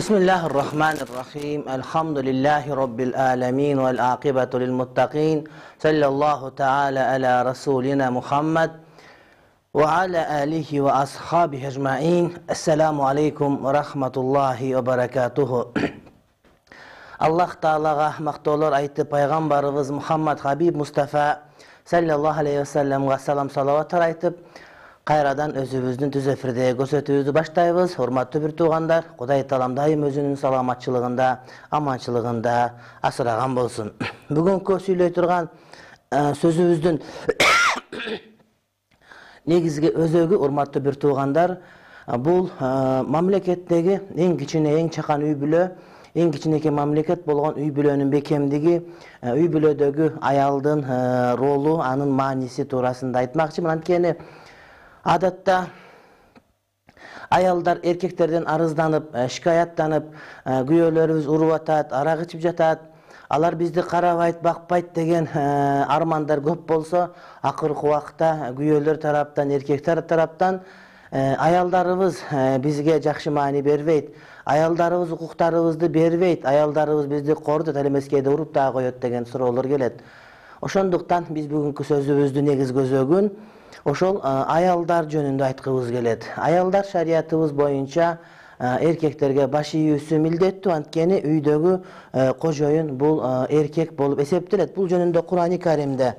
Bismillahirrahmanirrahim. Elhamdülillahi Rabbil alamin vel aqibatu lil muttaqin. Sallallahu ta'ala ala rasulina Muhammed ve ala alihi ve ashabihi ecmaîn. Esselamu aleykum ve rahmetullahi ve berekatuhu. Allah Ta'alaga maqtolar aytıp Peygamberimiz Muhammed Habib Mustafa sallallahu aleyhi ve sellem'e salam salavatlar aytıp kayradan özübüzdün düz efirde gözetүүbüzdü baştayбыз. Hormаттуу bir tuğandar, Kuday Taalam daim özünün salamatçılığında, amançılığında asıragan bolsun. Bugünkü süйлөй турган sözübüzdün negizgi özөгү, hormаттуу bir tuğandar, bul mamlekеттеги эң кичине, эң чакан үй бүлө, эң кичинекей мамлекет болгон үй бүлөнүн бекемдиги, үй бүлөдөгү аялдын ролу, анын мааниси туурасында айтмакчымын. Анткени адатта аялдар эркектерден арызданып, шикаяттанып, күйөөлөрүбүз уруп атат, арак ичип жатат, алар бизди карабайт, бакпайт деген армандар көп болсо, акыркы убакта күйөөлөр тараптан, эркектер тараптан аялдарыбыз бизге жакшы маани бербейт, аялдарыбыз укуктарыбызды бербейт, аялдарыбыз бизди корутат, ал эмес кээде уруп да коет деген суроолор келет. Ошондуктан биз бүгүнкү сөзүбүздүн негизги өзөгүн ошол аялдар жөнүндө айткыбыз келет. Аялдар шариятыбыз боюнча эркектерге баш ийүүсү милдеттүү, анткени үйдөгү кожоюн бул эркек болуп эсептелет. Бул жөнүндө Кур'ан-ы Каримде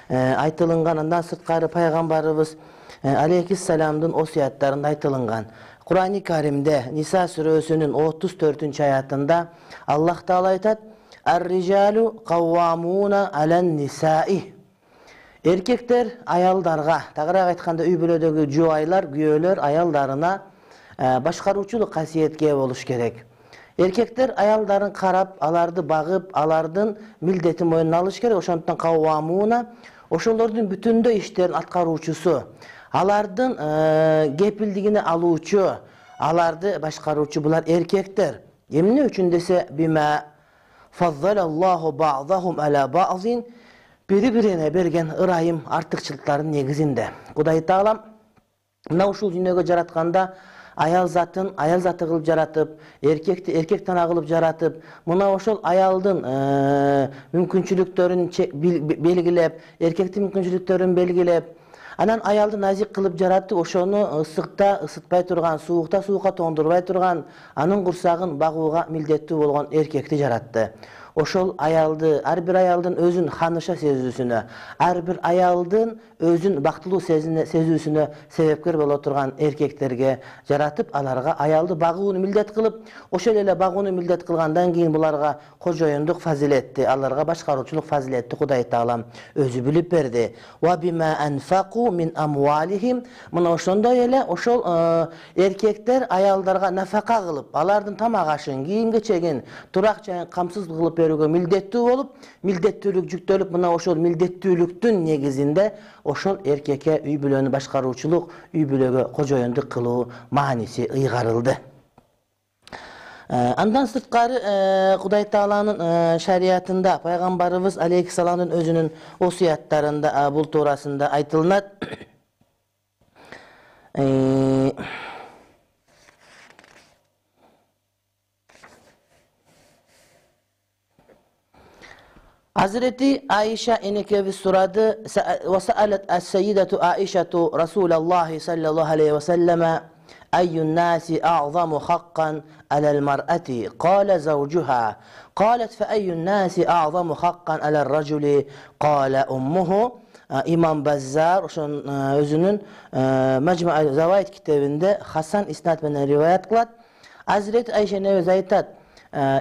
айтылынган, андан сырткары пайгамбарыбыз алейхиссаламдын осуяттарында айтылынган. Кур'ан-ы Каримде Ниса сүрөсүнүн 34-аятында Аллах Таала айтат: "Ар-рижалу каввамуна алан нисаи". Эркектер аялдарга, тагыраак айтканда үй бүлөдөгү жубайлар, күйөөлөр аялдарына башкаруучулук касиетке ээ болуш керек. Эркектер аялдарын карап, аларды багып, алардын милдетин мойнуна алыш керек. Ошондуктан каввамуна ошолордун бүтүндөй иштерин аткаруучусу, алардын кепилдигине алуучу, аларды башкаруучу булар эркектер. Эмне үчүн десе, бима фаззалаллаху ба'дахум ала ба'зин, бири-бирине берген ырайым артыкчылыктардын негизинде. Кудай Таалам мына ушул дүйнөгө жаратканда аял заты кылып жаратып, эркекти эркек тана кылып жаратып, мына ошол аялдын мүмкүнчүлүктөрүн белгилеп, эркектин мүмкүнчүлүктөрүн белгилеп, анан аялды назик кылып жаратып, ошону ысыкта ысытпай турган, суукта суукка тоңдурбай турган, анын курсагын багууга милдеттүү болгон эркекти жаратты. Ошол аялды, ар бир аялдын өзүн ханыша сезүүсүнө, ар бир аялдын өзүн бактылуу сезүүсүнө себепкер боло турган эркектерге жаратып, аларга аялды багууну милдет кылып, ошол эле багууну милдет кылгандан кийин буларга кожоюндук фазилетти, аларга башкаруучулук фазилетти Кудай Таалам өзү билип берди. Ва бима анфaqu min amwalihim. Мына ошондой эле ошол эркектер аялдарга нафака кылып, алардын тамак ашын, кийим кечегин, турак жайын камсыз кылып берүүгө милдеттүү болуп, милдеттүүлүк жүктөлүп, мына ошол милдеттүүлүктүн негизинде ошол эркекке үй бүлөнү башкаруучулук, үй бүлөгө кожоюндук кылуу мааниси ыйгарылды. Андан сырткары Кудай Тааланын шариятында пайгамбарыбыз алейхиссаламдын өзүнүн осуяттарында бул туурасында айтылынат. Hazreti Ayşe enekebis suradı ve sa'alet es-seyyidetu Aişetu Resulallah sallallahu aleyhi ve selleme eyyun nasi a'zamu hakkan alel mar'ati qala zawjuha qalet fe eyyun nasi a'zamu hakkan alel raculi qala ummuhu. İmam Bazzar özünün Mecmu'u Zavait kitabında Hasan isnat menen rivayet kılat. Hazreti Ayşe nevez aytat: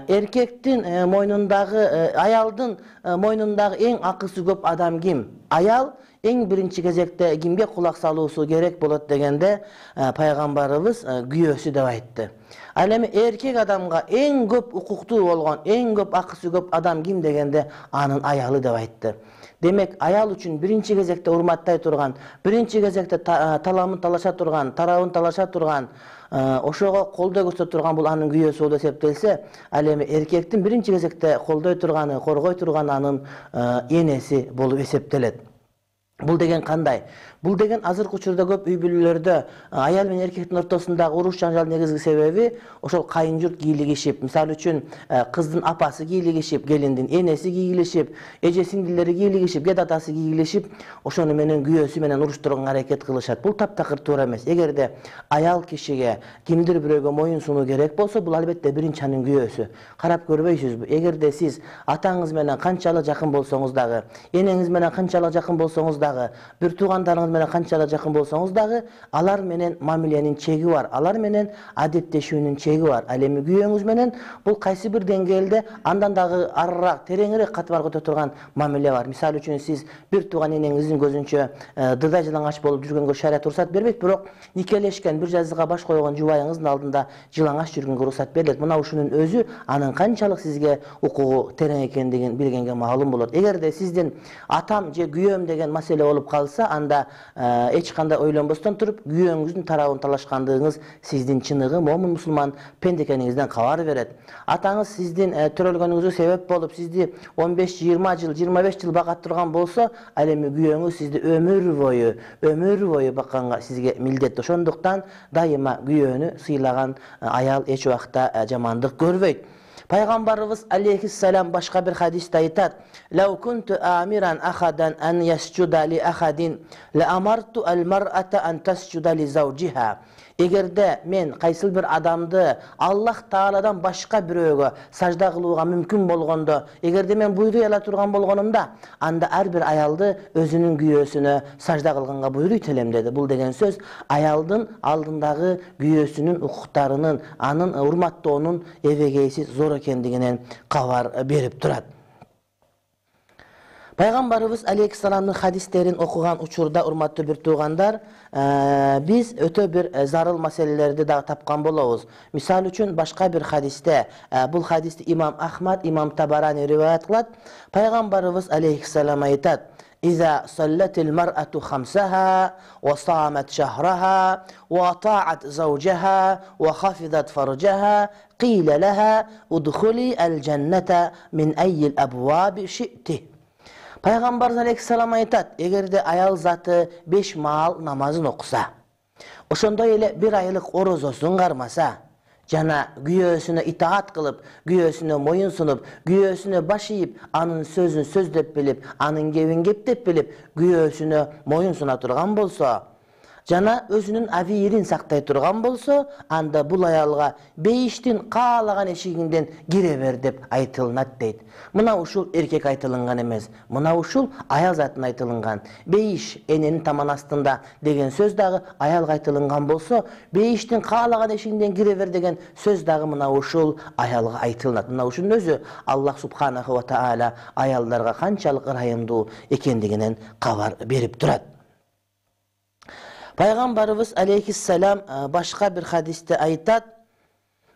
erkektin moynundagı, ayaldın moynundagı en akısı köp adam kim? Ayal эң биринчи кезекте кимге кулак салуусу керек болот дегенде пайгамбарыбыз күйөөсү деп айтты. Ал эми эркек адамга эң көп укуктуу болгон, эң көп акысы көп адам ким дегенде анын аялы деп айтты. Демек, аял үчүн биринчи кезекте урматтай турган, биринчи кезекте таламын талаша турган, тарабын талаша турган, ошого колдой көрсөтө турган бул анын күйөөсү болуп эсептелсе, ал эми эркектин биринчи кезекте колдой турганы, коргой турганы анын энеси болуп эсептелет. Бул деген кандай? Бул деген азыркы учурда көп үй бүлөлөрдө аял менен эркектин ортосундагы уруш жаңжалдын негизги себеби ошол кайын-журт кийлигишип, мисалы үчүн кыздын апасы кийлигишип, келиндин энеси кийлигишип, эже сиңдилери кийлигишип, кет атасы кийлигишип, ошону менен күйөөсү менен уруштурганга аракет кылышат. Бул таптакыр туура эмес. Эгерде аял кишиге кимдир бирөөгө моюн сунуу керек болсо, бул албетте биринчи анын күйөөсү. Карап көрбөйсүзбү? Эгерде сиз атаңыз менен канчалык жакын болсоңуз дагы, энеңиз менен канчалык жакын болсоңуз дагы, бир туугандарыңыз менен канчалык жакын болсоңуз дагы, алар менен мамиленин чеги бар, алар менен адеттешүүнүн чеги бар. Ал эми күйөөңүз менен бул кайсы бир деңгээлде андан дагы арыраак, тереңирээк катмар өтө турган мамиле бар. Мисалы үчүн сиз бир тууган энеңиздин көзүнчө дыдай жылаңач болуп жүргөнгө шарият уруксат бербейт, бирок никелешкен, бир жазыга баш койгон жубайыңыздын алдында жылаңач жүргөнгө уруксат берилет. Мына ушунун өзү анын канчалык сизге укугу терең экендигин билгенге маалым болот. Эгерде сиздин атам же күйөөм деген маселе болуп калса, анда эч кандай ойлонбостон туруп күйөөңүздүн тарабын талашкандыгыңыз сиздин чыныгы момун мусулман пенде экениңизден кабар берет. Атаңыз сиздин төрөлгөнүңүзгө себеп болуп, сизди 15-20 жыл, 25 жыл багат турган болсо, ал эми күйөөңүз сизди өмүр бою бакканга сизге милдет. Ошондуктан дайыма күйөөнү сыйлаган аял эч убакта жамандык көрбөйт. Пайгамбарыбыз алейхиссалам башка бир хадисте айтат: "Лау кунту амиран ахадан ан ясджуда ли ахадин, ла амарту ал-мар'ата ан тасджуда ли завджиха." Эгерде мен кайсыл бир адамды Аллах Тааладан башка бирөөгө сажда кылууга мүмкүн болгондо, эгерде мен буйруй ала турган болгонумда, анда ар бир аялды өзүнүн күйөөсүнө сажда кылганга буйруйт элем деди. Бул деген сөз аялдын алдындагы күйөөсүнүн укуктарынын, анын урматтоонун эбегейсиз зор экендигинен кабар берип турат. Пайгамбарыбыз алейхиссаламдын хадистерин окуган учурда, урматтуу бир туугандар, биз өтө бир зарыл маселелерди дагы тапкан болобуз. Мисалы үчүн башка бир хадисте, бул хадисти имам Ахмад, имам Табарани риваят кылат. Пайгамбарыбыз алейхиссалам айтат: "Иза саллатил мар'ату хамсаха ва самат шахраха ва ата'ат завджаха ва хафизат фарджаха, qila laha udkhuli al-jannata min ayyil abwabi shi'ti." Пайгамбарыбыз алейхиссалам айтат: эгерде аял заты 5 маал намазын окуса, ошондой эле 1 айлык орозосун кармаса, жана күйөөсүнө итаат кылып, күйөөсүнө моюн сунуп, күйөөсүнө баш ийип, анын сөзүн сөз деп билип, анын кебин кеп деп билип, күйөөсүнө моюн суна турган болсо, жана өзүнүн авирин сактай турган болсо, анда бул аялга бейиштин каалаган эшигинден кире бер деп айтылынат дейт. Мына ушул эркек айтылынган эмес, мына ушул аял затына айтылынган. Бейиш эненин таман астында деген сөз дагы аялга айтылынган болсо, бейиштин каалаган эшигинден кире бер деген сөз дагы мына ушул аялга айтылынат. Мына ушунун өзү Аллах субханаху ва таала аялдарга канчалык ырайымдуу экендигинен кабар берип турат. Пайгамбарыбыз алейхиссалам башка бир хадисте айтат,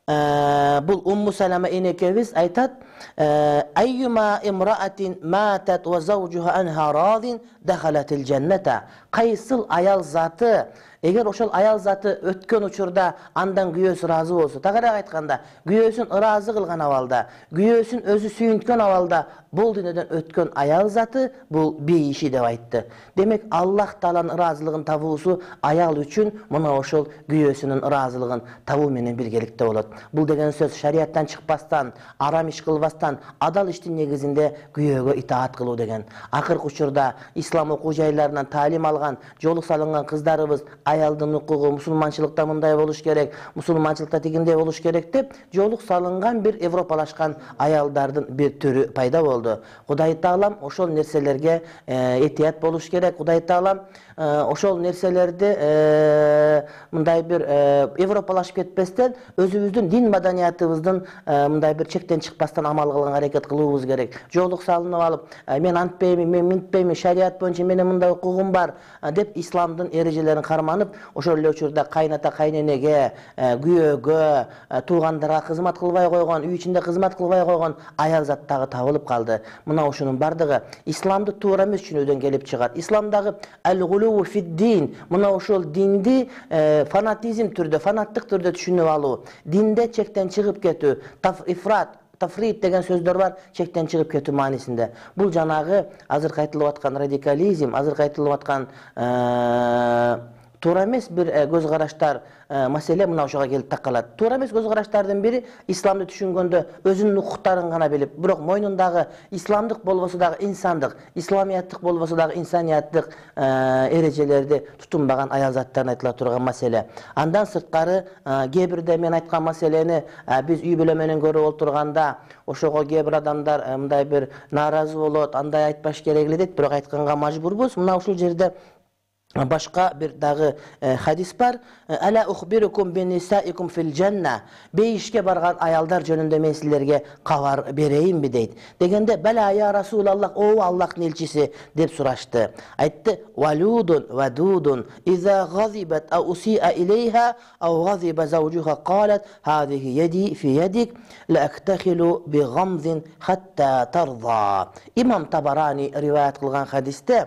бул Умму Салама энекебиз айтат: "Айюма имраатин матат ва завджуха анха радин дахалатил жанната." Кайсыл аял заты, эгер ошол аял заты өткөн учурда андан күйөөсү ыраазы болсо, тагыраак айтканда, күйөөсүн ыраазы кылган абалда, күйөөсүн өзү сүйүнткөн абалда бул дүйнөдөн өткөн аял заты бул бейиши деп айтты. Демек, Аллах Тааланын ыраазылыгын табуусу аял үчүн мына ошол күйөөсүнүн ыраазылыгын табуу менен биргеликте болот. Бул деген сөз шарияттан чыкпастан, арам иш кылбастан, адал иштин негизинде күйөөгө итаат кылуу деген. Акыркы учурда ислам окуу жайларынан таалим алган, жолу салынган кыздарыбыз аялдын укугу мусулманчылыкта мындай болуш керек, мусулманчылыкта тигиндей болуш керек деп жолук салынган бир европалашкан аялдардын бир түрү пайда болду. Кудай Таалам ошол нерселерге этият болуш керек. Кудай Таалам ошол нерселерди мындай бир европалашып кетпестен өзүбүздүн дин маданиятыбыздын мындай бир чектен чыкпастан амал кылганга аракет кылуубуз керек. Жолук салынып алып, мен антпеймин, мен минтпеймин, шарият боюнча менин мындай укугум бар деп исламдын эрежелерин карманып, ошол эле учурда кайната кайненеге, күйөөгө, туугандарга кызмат кылбай койгон, үй ичинде кызмат кылбай койгон аял зат дагы табылып калды. Мына ушунун бардыгы исламды туура эмес түшүнүүдөн келип чыгат. Исламдагы ал-гулуу фид-дин, мына ошол динди фанатизм түрдө, фанаттык түрдө түшүнүп алуу, динде чектен чыгып кетүү, тафрит деген сөздөр бар, чектен чыгып кетүү маанисинде. Бул жанагы азыркы айтылып аткан радикализм, азыркы айтылып аткан туура эмес бир көз караштар маселе мына ошого келип такалат. Туура эмес көз караштардын бири исламды түшүнгөндө өзүнүн укуктарын гана билип, бирок мойнундагы исламдык болбосо дагы инсандык, исламияттык болбосо дагы инсанияттык эрежелерди тутунбаган аял заттарын айтыла турган маселе. Андан сырткары кээ бирде мен айткан маселени биз үй бүлө менен көрүп отурганда ошого кээ бир адамдар мындай бир нааразы болот, андай айтпаш керек эле дейт, бирок айтканга мажбурбуз. Мына ушул жерде башка бир дагы хадис бар. Ала ухбирукум бинисаикум фил жанна. Бейишке барган аялдар жөнүндө мен силерге кабар берейинби дейт. Дегенде бала я Расулаллах, о Аллахтын элчиси деп сурашты. Айтты: валудун вадудун иза газибат ау усиа илейха ау газиба заужуха қалат хадихи яди фи ядик ла актахилу би гамзин хатта тарда. Имам Табарани риваят кылган хадисте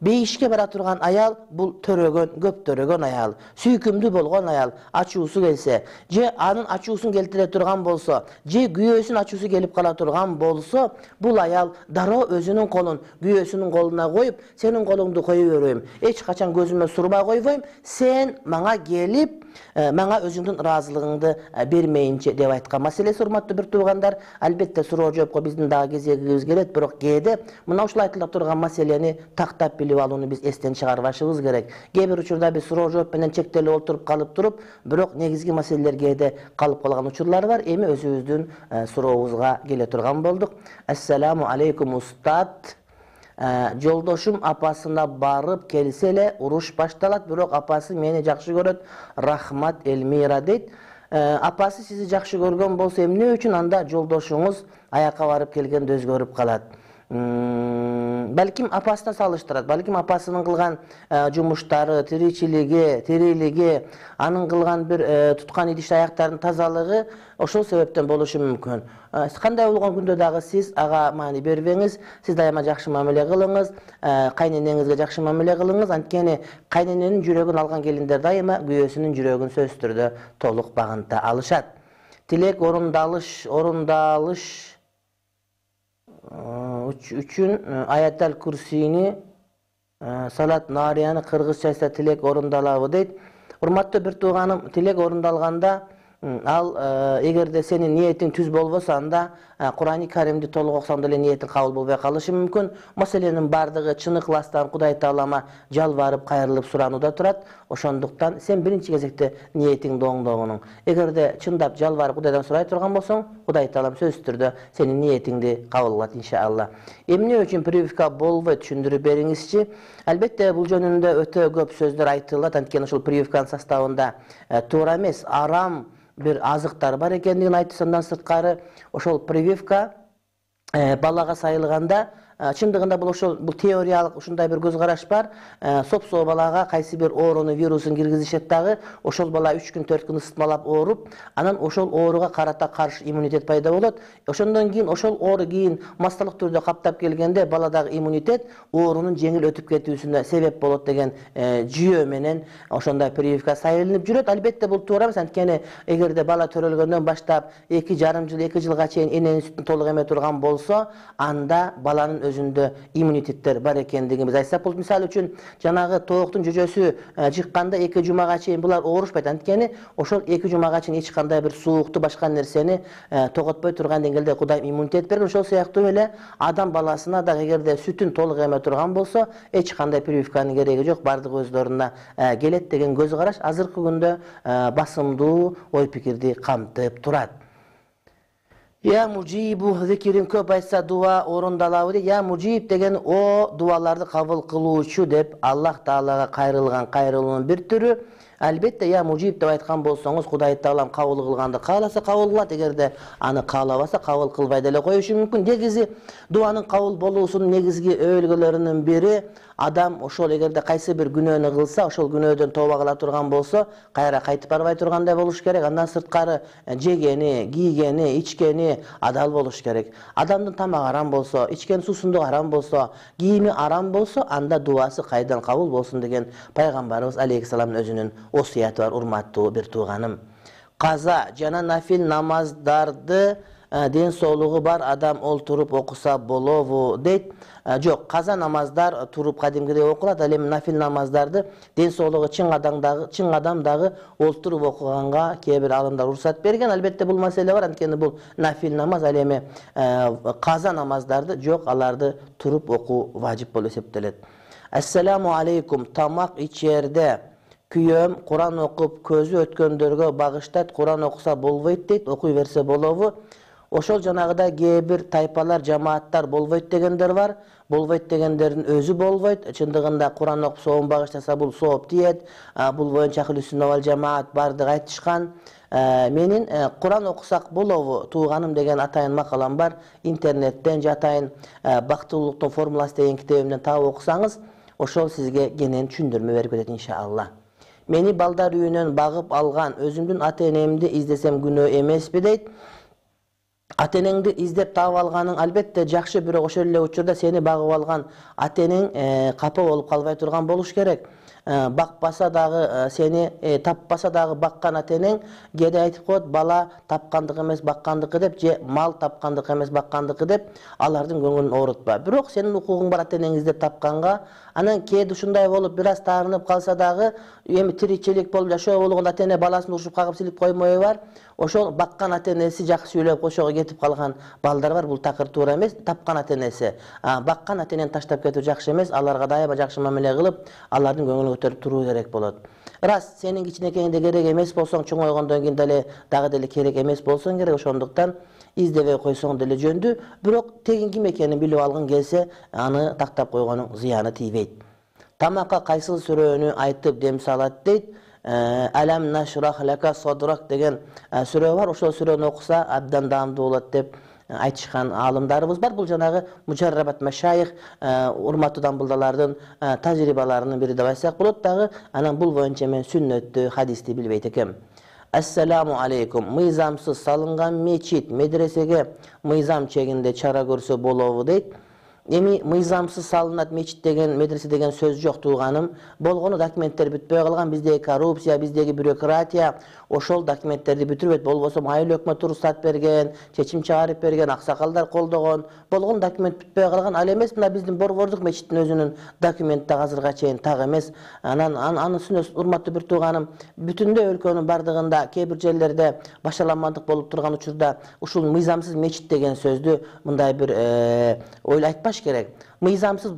бейишке бара турган аял бул төрөгөн, көп төрөгөн аял, сүйкүмдүү болгон аял, ачуусу келсе, же анын ачуусун келтире турган болсо, же күйөөсүнүн ачуусу келип кала турган болсо, бул аял дароо өзүнүн колун күйөөсүнүн колуна коюп, сенин колуңду кое бербейм, эч качан көзүмө сурма койбойм, сен мага келип, мага өзүңдүн ыраазылыгыңды бермейинче деп айткан. Маселеси, урматтуу бир туугандар, албетте суроо жоопко биздин дагы кезегибиз келет, бирок кээде мына ушул айтыла турган маселени тактап билип алууну биз эстен чыгарбашыбыз керек. Кээ бир учурда биз суроо жооп менен чектелип отуруп калып туруп, бирок негизги маселелер кээде калып калган учурлар бар. Эми өзүбүздүн сурообузга келе турган болдук. Ассаламу алейкум устат. Жолдошум апасына барып келсе эле уруш башталат, бирок апасы мени жакшы көрөт. Рахмат Элмира дейт. Апасы сизди жакшы көргөн болсо эмне үчүн анда жолдошуңуз аякка барып келгенде өзгөрүп калат? Балким апасына салыштырат, балким апасынын кылган жумуштары, тирилиги, анын кылган бир туткан идиш аяктарынын тазалыгы ошол себептен болушу мүмкүн. Кандай болгон күндө дагы сиз ага маани бербеңиз, сиз дайыма жакшы мамиле кылыңыз, кайненеңизге жакшы мамиле кылыңыз. Анткени кайнененин жүрөгүн алган келиндер дайыма күйөөсүнүн жүрөгүн сөзсүз түрдө толук багынта алышат. Тилек орундалыш үчүн аятал курсини салат нарияны кыргызчасы тилек орундалабы дейт. Урматтуу бир тууганым, тилек орундалганда ал эгерде сенин ниетиң түз болбосо, анда Кур'ани Каримди толук окусаң деле ниетиң кабыл болбой калышы мүмкүн. Маселенин бардыгы чын ыкластан Кудай Таалама жалбарып, кайрылып суранууда турат. Ошондуктан сен биринчи кезекте ниетиңди оңдогонуң. Эгерде чындап жалбарып Кудайдан сурай турган болсоң, Кудай Таалам сөзсүз түрдө сенин ниетиңди кабыл кылат иншалла. Эмне үчүн прививка болбойт, түшүндүрүп бериңизчи. Албетте бул жөнүндө өтө көп сөздөр айтылат. Анткени ошол прививканын составында туура эмес, арам бир азыктар бар экендигин айтты. Андан сырткары ошол прививка балага сайылганда чындыгында бул теориялык ушундай бир көз караш бар. Сопсоо балага кайсы бир ооруну, вирусун киргизишет дагы, ошол бала 3 күн 4 күн ысытмалап ооруп, анан ошол ооруга карата каршы иммунитет пайда болот. Ошондон кийин ошол оору кийин массалык түрдө каптап келгенде баладагы иммунитет оорунун жеңил өтүп кетүүсүнө себеп болот деген жүйө менен ошондой прививка сайылынып жүрөт. Албетте бул туура эмес, анткени эгерде бала төрөлгөндөн баштап 2,5 жыл, 2 жылга чейин эненин сүтүн толук эме турган болсо, анда баланын өзүндө иммунитеттер бар экендигин биз айтсак болот. Мисалы үчүн жанагы тооктун жөжөсү жыкканда 2 жумага чейин булар оорушпайт. Анткени ошол 2 жумага чейин эч кандай бир суукту башка нерсени тоготпой турган деңгээлде Кудайым иммунитет берген. Ошол сыяктуу эле адам баласына дагы эгерде сүтүн толук эме турган болсо, эч кандай прививканын кереги жок, бардыгы өздөрүнө келет деген көз караш азыркы күндө басымдуу ой пикирди камтып турат. Я мужибу зикирин көп айтса дуа орундалабы дейт. Я мужиб деген о дуаларды кабыл кылуучу деп Аллах Таалага кайрылган кайрылуунун бир түрү. Албетте я мужиб деп айткан болсоңуз, Кудай Таалам кабыл кылганды кааласа кабыл кылат, эгерде аны каалабаса кабыл кылбай деле коюшу мүмкүн. Негизи дуанын кабыл болуусунун негизги өбөлгөлөрүнүн бири адам ошол эгерде кайсы бир күнөөнү кылса, ошол күнөөдөн тооба кыла турган болсо, кайра кайтып барбай тургандай болуш керек. Андан сырткары жегени, кийгени, ичкени адал болуш керек. Адамдын тамагы арам болсо, ичкен суусундугу арам болсо, кийими арам болсо, анда дуасы кайдан кабыл болсун деген пайгамбарыбыз алейхиссаламдын өзүнүн осуяты бар, урматтуу бир тууганым. Каза жана нафил намаздарды ден соолугу бар адам олтуруп окуса болобу дейт. Жок, каза намаздар туруп кадимгидей окулат, ал эми нафил намаздарды ден соолугу чың адам дагы олтуруп окуганга кээ бир алымдар уруксат берген. Албетте бул маселе бар, анткени бул нафил намаз, ал эми каза намаздарды жок, аларды туруп окуу важип болуп эсептелет. Ассаламу алейкум, тамак ичерде күйөөм Куран окуп көзү өткөндөргө багыштайт, Куран окуса болбойт дейт, окуй берсе болобу? Ошол жанагыдай кээ бир тайпалар, жамааттар болбойт дегендер бар. Болбойт дегендердин өзү болбойт. Чындыгында Куран окуп соом багыштаса бул сооп тиет. Бул боюнча Ахлүс-сүнна вал жамаат бардыгы айтышкан. Менин Куран окусак болобу тууганым деген атайын макалам бар. Интернеттен же атайын бактылуулуктун формуласы деген китебимден таап окусаңыз, ошол сизге кенен түшүндүрмө берип кетет иншалла. Мени балдар үйүнөн багып алган, өзүмдүн ата-энемди издесем күнөө эмеспи дейт. Ата-энеңди издеп таап алганың албетте жакшы, бирок ошол эле учурда сени багып алган ата-энең капа болуп калбай турган болуш керек. Бакпаса дагы сени таппаса дагы баккан ата-энең кээде айтып коет, бала тапкандык эмес баккандыкы деп, же мал тапкандык эмес баккандыкы деп, алардын көңүлүн оорутпа. Бирок сенин укугуң бар ата-энеңди издеп тапканга. Анан кээде ушундай болуп бир аз таарынып калса дагы, эми тиричилик болуп жашоо болгондо ата-эне баласын урушуп кагып силип коймою бар. Ошол баккан ата-энеси жакшы сүйлөп ошого кетип калган балдар бар. Бул такыр туура эмес. Тапкан ата-энеси, баккан ата-энени таштап кетүү жакшы эмес. Аларга дайыма жакшы мамиле кылып, алардын көңүлүн көтөрүп туруу керек болот. Рас, сенин кичинекейиңде керек эмес болсоң, чоңойгондон кийин деле дагы деле керек эмес болсоң керек. Ошондуктан издебей койсоң деле жөндү. Бирок тегин ким экенин билип алгың келсе, аны тактап койгонуң зыяны тийбейт. Тамакка кайсыл сүрөнү айтып дем салат дейт. Алам нашрах лака содрак деген сүрө бар. Ошол сүрөнү окуса абдан даамдуу болот деп айтышкан аалымдарыбыз бар. Бул жанагы мужаррабат машайх, урматтуу дамбылдалардын тажрыйбаларынын бири деп айтсак болот. Дагы анан бул боюнча мен сүннөттү, хадисти билбейт экем. Ассаламу алейкум. Мыйзамсыз салынган мечит, медресеге мыйзам чегинде чара көрсө болобу дейт. Эми мыйзамсыз салынат мечит деген, медресе деген сөз жок тууганым. Болгону документтер бүтпөй калган, биздеги коррупция, биздеги бюрократия ошол документтерди бүтүрбөйт. Болбосо майыл өкмөт уруксат берген, чечим чыгарып берген, аксакалдар колдогон, болгон документ бүтпөй калган. Ал эмес мына биздин Борбордук мечиттин өзүнүн документи азырга чейин так эмес. Анын сүнөс урматтуу бир тууганым, бүтүндөй өлкөнүн бардыгында кээ бир жерлерде башаламандык болуп турган учурда ушул мыйзамсыз мечит деген сөздү мындай бир ойлой айтпаш керек. Мыйзамсыз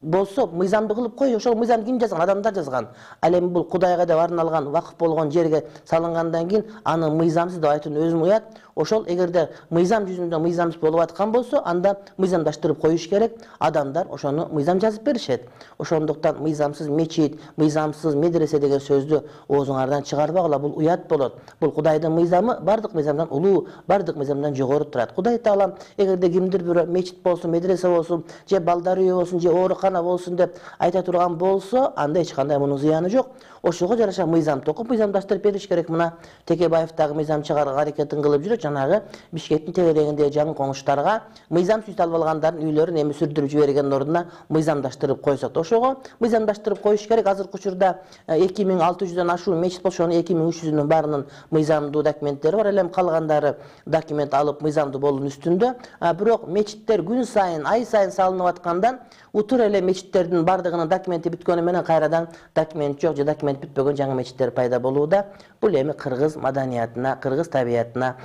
болсо, мыйзамды кылып кой, ошол мыйзамды ким жазган? Адамдар жазган. Ал эми бул Кудайга деп арналган, вакыф болгон жерге салынгандан кийин аны мыйзамсыз деп айтууну өзүм уят. Ошол эгерде мыйзам жүзүндө мыйзамсыз болуп аткан болсо, анда мыйзамдаштырып коюш керек. Адамдар ошону мыйзам жазып беришет. Ошондуктан мыйзамсыз мечит, мыйзамсыз медресе деген сөздү оозуңардан чыгарбагыла, бул уят болот. Бул Кудайдын мыйзамы бардык мыйзамдан улуу, бардык мыйзамдан жогору турат. Кудай Таалам эгерде кимдир бирөө мечит болсун, медресе болсун, же балдар үйү болсун, же оорукана гана болсун деп айта турган болсо, анда эч кандай мунун зыяны жок. Ошого жараша мыйзам токуп, мыйзамдаштырып бериш керек. Мына Текебаев дагы мыйзам чыгарууга аракетин кылып жүрөт. Жанагы Бишкектин тегерегиндеги жаңы коңуштарга мыйзам сүйүт алып алгандардын үйлөрүн эми сүрдүрүп жибергендин ордуна мыйзамдаштырып койсок. Ошого мыйзамдаштырып коюш керек. Азыркы учурда 2600дөн ашуун мечит болсо, ошонун 2300-үнүн баарынын мыйзамдуу документтери бар. Элем калгандары документ алып мыйзамдуу болуунун үстүндө. Бирок мечиттер күн сайын, ай сайын салынып аткандан утур эле мечиттердин бардыгынын документи бүткөнү менен кайрадан документ жок же документ бүтпөгөн жаңы мечиттер пайда болууда. Бул эми кыргыз маданиятына, кыргыз табиятына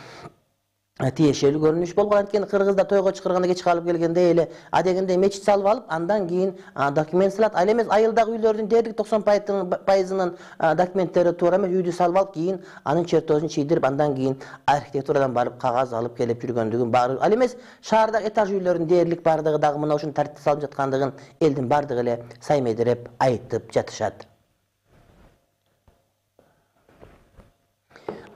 тиешелүү көрүнүш болгон. Анткени кыргызда тойго чакырганда кеч калып келгенде эле адегенде мечит салып алып, андан кийин документ салат. Ал эмес айылдагы үйлөрдүн дээрлик 90% документтери туура эмес, үйдү салып алып, кийин анын чертожун чийдирип, андан кийин архитектурадан барып кагаз алып келип жүргөндүгүн баары. Ал эмес шаардагы этаж үйлөрдүн дээрлик бардыгы дагы мына ушуну тартипке салып жаткандыгын элдин бардыгы эле саймедирип айтып жатышат.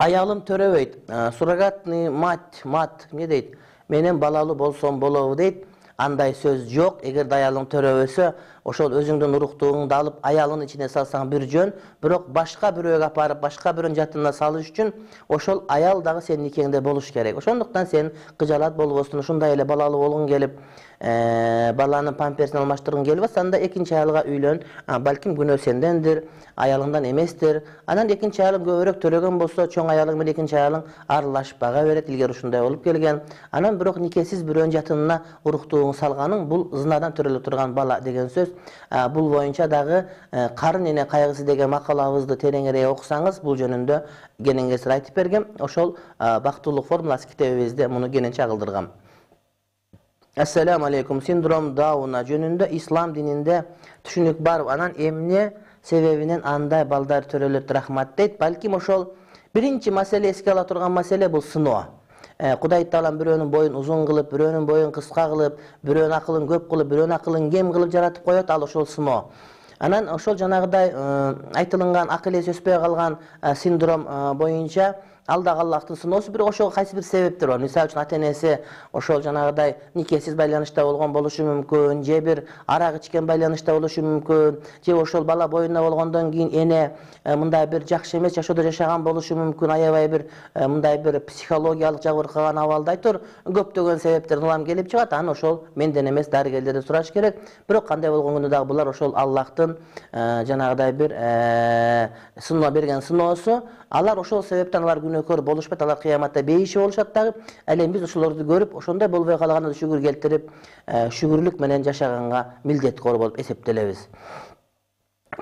Аялым төрөбөйт. Суррогатный мать не дейт? Менен балалуу болсом болобу дейт. Андай сөз жок. Эгерде аялың төрөбөсө, ошол өзүңдүн уруктууңду алып аялынын ичине салсаң бир жөн, бирок башка бирөөгө апарып, башка бирөөнүн жатына салыш үчүн ошол аял дагы сенин никеңде болуш керек. Ошондуктан сен кыжалат болбостун, ушундай эле балалуу болгуң келип, баланын памперсин алмаштыргың келип атса, анда экинчи аялга үйлөн. Балким күнөө сендендир, аялыңдан эместир. Анан экинчи аялың көбүрөөк төрөгөн болсо, чоң аялың менен экинчи аялың аралашып бага берет. Илгери ушундай болуп келген. Анан бирок никесиз бирөөнүн жатына уруктууңду салганың бул зынадан төрөлө турган бала деген сөз. Бул боюнча дагы карын эне кайгысы деген макалабызды тереңирээк окусаңыз, бул жөнүндө кенеңгесир айтып бергем. Ошол бактылык формуласы китебибизде муну кенен чагылдыргам. Ассаламу алейкум. Синдром Дауна жөнүндө ислам дининде түшүнүк бар. Анан эмне себебинен андай балдар төрөлөт? Рахмат дейт. Балким ошол биринчи маселе, эске ала турган маселе бул сыноо. Кудай Таалам бирөөнүн боюн узун кылып, бирөөнүн боюн кыска кылып, бирөөнүн акылын көп кылып, бирөөнүн акылын кем кылып жаратып коет. Ал ошол сыноо. Анан ошол жанагыдай айтылган акыл эси өспөй калган синдром боюнча ал дагы Аллахтын сыноосу, бирок ошого кайсы бир себептер бар. Мисалы үчүн ата-энеси ошол жанагыдай никесиз байланышта болгон болушу мүмкүн, же бир арак ичкен байланышта болушу мүмкүн, же ошол бала боюнда болгондон кийин эне мындай бир жакшы эмес жашоодо жашаган болушу мүмкүн, аябай бир мындай бир психологиялык жабыркаган абалда айтор көптөгөн себептерден улам келип чыгат. Аны ошол менден эмес, дарыгерлерден сураш керек. Бирок кандай болгон күндө дагы булар ошол Аллахтын жанагыдай бир сыноо берген сыноосу. Алар ошол себептен алар күнөөкөр болушпайт, алар кыяматта бейиши болушат дагы. Ал эми биз ошолорду көрүп, ошондой болбой калганда шүгүр келтирип, шүгүрлүк менен жашаганга милдеткор болуп эсептелебиз.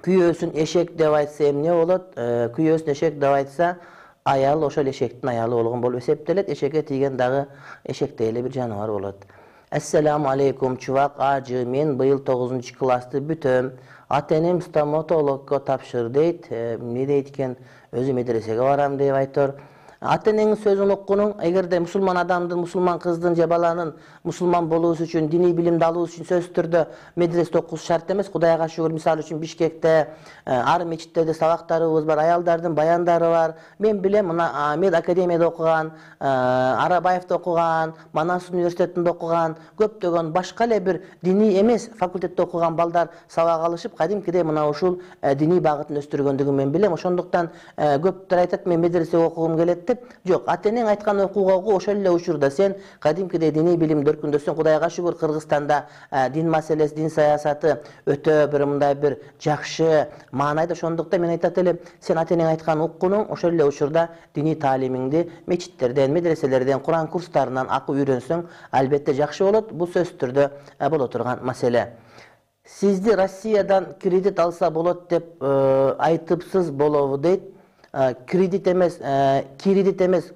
Күйөөсүн эшек деп айтса эмне болот? Күйөөсүн эшек деп айтса, аял ошол эшектин аялы болгон болуп эсептелет. Эшекке тийген дагы эшектей эле бир жаныбар болот. Ассаламу алейкум, чубак ажы, мен быйыл 9-классты бүтөм. Ата-энем стоматологго тапшыр дейт. Эмне дейт экен? Өзү медресеге барам деп айтор. Ата-энеңин сөзүн уккунуң, эгерде мусулман адамдын, мусулман кыздын же баланын мусулман болуусу үчүн, диний билимди алуусу үчүн сөзсүз түрдө медреседе окуусу шарт эмес. Кудайга шүгүр, мисалы үчүн Бишкекте ар мечиттерде сабактарыбыз бар, аялдардын баяндары бар. Мен билем, мына Мед академияда окуган, Арабаевде окуган, Манас университетинде окуган, көптөгөн башка эле бир диний эмес факультетте окуган балдар сабак алышып, кадимкидей мына ушул диний багытын өстүргөндүгүн мен билем. Ошондуктан көптөр айтат, мен медресеге окугум келет. Жок, ата-энең айткан окууга окуу, ошол эле учурда сен кадимкидей диний билимди өркүндөсөң, Кудайга шүгүр, Кыргызстанда дин маселеси, дин саясаты өтө бир мындай бир жакшы маанайда. Ошондуктан мен айтат элем, сен ата-энең айткан уккунуң, ошол эле учурда диний таалимиңди мечиттерден, медреселерден, Куран курстарынан акып үйрөнсөң, албетте жакшы болот. Бул сөзсүз түрдө боло турган маселе. Сизди Россиядан кредит алса болот деп айтыпсыз, болобу дейт. Кредит эмес,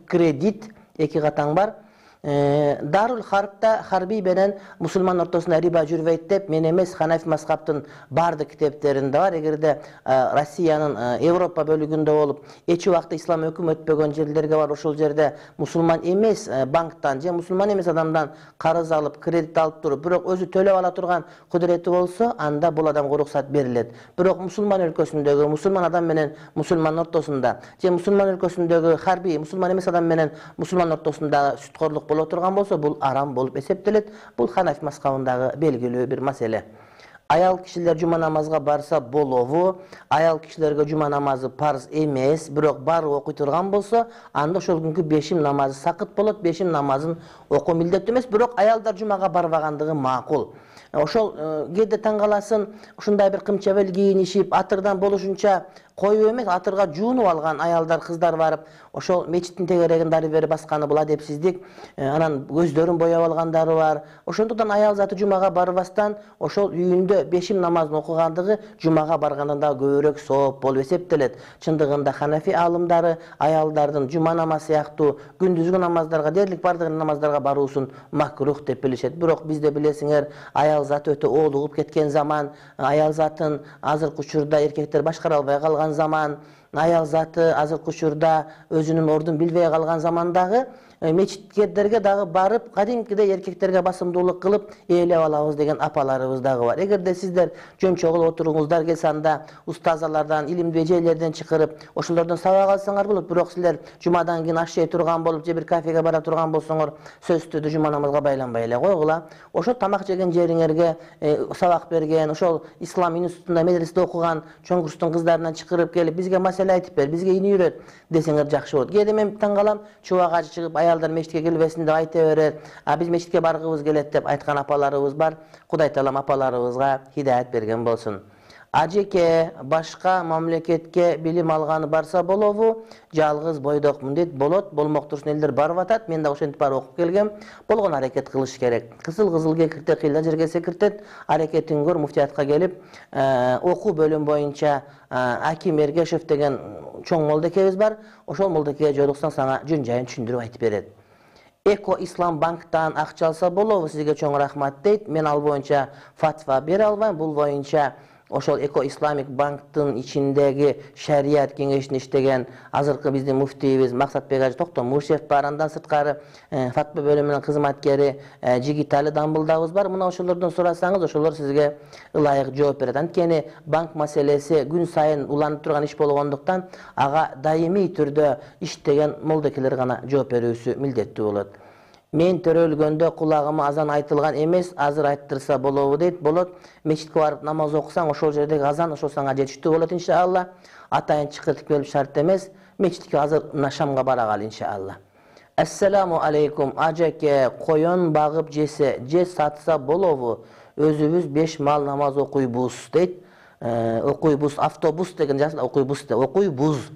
кредит, эки катаң бар. Дарул Харбта Харби менен мусулман ортосунда риба жүрбөйт деп мен эмес, Ханафи мазхабтын бардык китептеринде бар. Эгерде Россиянын Европа бөлүгүндө болуп, эч убакта ислам өкүм өтпөгөн жерлерге бар, ошол жерде мусулман эмес банктан же мусулман эмес адамдан карыз алып, кредит алып туруп, бирок өзү төлөп ала турган кудурети болсо, анда бул адамга уруксат берилет. Бирок мусулман өлкөсүндөгү мусулман адам менен мусулман ортосунда же мусулман өлкөсүндөгү Харби мусулман эмес адам менен мусулман ортосунда сүткөрлүк боло турган болсо, бул арам болуп эсептелет. Бул Ханафи мазхабындагы белгилүү бир маселе. Аял кишилер жума намазга барса болобу? Аял кишилерге жума намазы парз эмес, бирок баары окуй турган болсо, анда ошол күнкү бешим намазы сакыт болот. Бешим намазын окуу милдеттүү эмес, бирок аялдар жумага барбагандыгы макул. Ошол кээде таң каласын, ушундай бир кымчабел кийинишип, атырдан болушунча коюп эмес, атырга жуунуп алган аялдар, кыздар барып, ошол мечиттин тегерегин дары бери басканы бул адепсиздик. Анан көздөрүн бояп алгандары бар. Ошондуктан аял заты жумага барбастан, ошол үйүндө бешим намазын окугандыгы жумага баргандан да көбүрөөк сооп болуп эсептелет. Чындыгында Ханафи аалымдары аялдардын жума намазы сыяктуу күндүзгү намаздарга дээрлик бардык намаздарга баруусун макрух деп билишет. Бирок бизде билесиңер, аял заты өтө оолугуп кеткен заман, аял затын азыркы учурда эркектер башкара албай калган заман, аял заты азыркы учурда өзүнүн ордун билбей калган замандагы мечиттерге дагы барып, кадимкидей эркектерге басымдуулук кылып ээлеп алабыз деген апаларыбыз дагы бар. Эгерде сиздер жөн-чогул отуруңуздар келсе, анда устазалардан, илимдүү эжелерден чакырып, ошолордон сабак алсаңар болот. Бирок силер жумадан кийин аш жей турган болуп, же бир кафеге бара турган болсоңор, сөзсүз түрдө жума намазга байланбай эле койгула. Ошол тамак жеген жериңерге сабак берген, ошол ислам институтунда, медреседе окуган чоң курстун кыздарынан чакырып келип, бизге маселе айтып бер, бизге ини үйрөт десеңер жакшы болот. Кээде мен таң калам, чубак ачы чыгып, аялдар мечитке келбесин деп айта берет. Биз мечитке баргыбыз келет деп айткан апаларыбыз бар. Кудай таалам апаларыбызга хидаят берген болсун. Ажеке башка мамлекетке билим алганы барса болобу? Жалгыз бойдокмун дейт. Болот, болмоктурсун элдер барып атат. Мен да ошентип барып окуп келгем. Болгон аракет кылыш керек. Кызыл кекирте кыйла жерге секиртет. Аракетиң көр, муфтиятка келип, окуу бөлүм боюнча Аким Эргешев деген чоң молдекебиз бар. Ошол молдекеге жолуксаң сага жөн жайын түшүндүрүп айтып берет. Эко Ислам банктан акча алса болобу? Сизге чоң рахмат дейт. Мен ал боюнча фатва бере албайм. Бул боюнча ошол Эко Исламик банктын ичиндеги шарият кеңешин иштеген азыркы биздин муфтийибиз Максатбек ажы Токтомушев бар. Андан сырткары фатва бөлүмүнүн кызматкери Жигитали Дамбылдабыз бар. Мына ошолордон сурасаңыз, ошолор сизге ылайык жооп берет. Анткени банк маселеси күн сайын уланып турган иш болгондуктан ага даимий түрдө иштеген молдекелер гана жооп берүүсү милдеттүү болот. Мен төрөлгөндө кулагыма азан айтылган эмес, азыр айттырса болобу дейт. Болот. Мечитке барып намаз окусаң, ошол жердеги азан ошол сага жетиштүү болот иншалла. Атайын чакыртып келип шарт эмес. Мечитке азыр мына шамга бара кал иншалла. Ассаламу алейкум. Ажеке коён багып жесе, же сатса болобу? Өзүбүз 5 мал намаз окуйбуз дейт. Окуйбуз, автобус деген жазылат, окуйбуз деп. Окуйбуз.